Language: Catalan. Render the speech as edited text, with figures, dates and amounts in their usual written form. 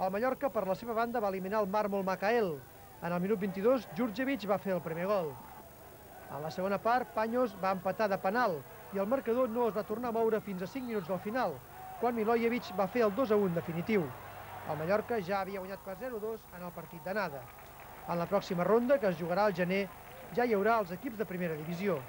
El Mallorca, per la seva banda, va eliminar el Mármol Macael. En el minut 22, Djurdjevic va fer el primer gol. En la segona part, Paños va empatar de penal i el marcador no es va tornar a moure fins a 5 minuts del final, quan Milojevic va fer el 2-1 definitiu. El Mallorca ja havia guanyat per 0-2 en el partit d'anada. En la pròxima ronda, que es jugarà al gener, ja hi haurà els equips de primera divisió.